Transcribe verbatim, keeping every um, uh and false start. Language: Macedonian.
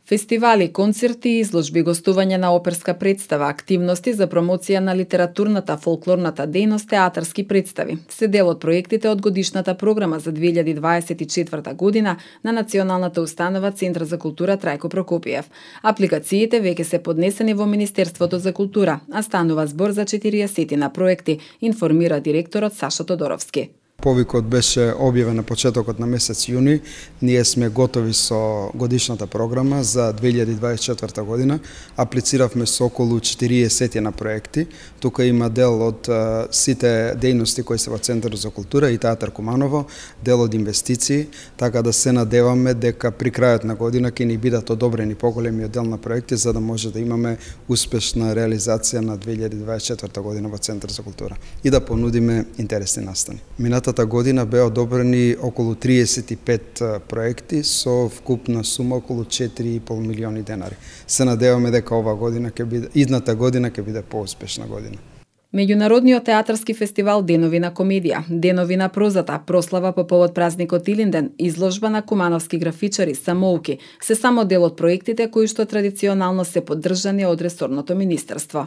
Фестивали, концерти, изложби, гостување на оперска представа, активности за промоција на литературната, фолклорната дејност, театарски представи се дел од проектите од годишната програма за две илјади дваесет и четврта година на Националната установа Центар за култура Трајко Прокопиев. Апликациите веќе се поднесени во Министерството за култура, а станува збор за четириесет на проекти, информира директорот Сашо Тодоровски. Повикот беше објавен на почетокот на месец јуни. Ние сме готови со годишната програма за две илјади дваесет и четврта година. Аплициравме со околу четириесет на проекти. Тука има дел од uh, сите дејности кои се во Центарот за култура и Театар Куманово, дел од инвестиции, така да се надеваме дека при крајот на година ќе ни бидат одобрени поголемиот дел на проекти за да може да имаме успешна реализација на две илјади дваесет и четврта година во Центар за култура и да понудиме интересни настани. Минатата година беа одобрени околу триесет и пет проекти со вкупна сума околу четири и пол милиони денари. Се надеваме дека ова година ќе биде, идната година ќе биде поуспешна година. Меѓународниот театарски фестивал Денови на комедија, Денови на прозата, прослава по повод празникот Илинден, изложба на кумановски графичари, самоуки, се само дел од проектите кои што традиционално се поддржани од ресорното министерство.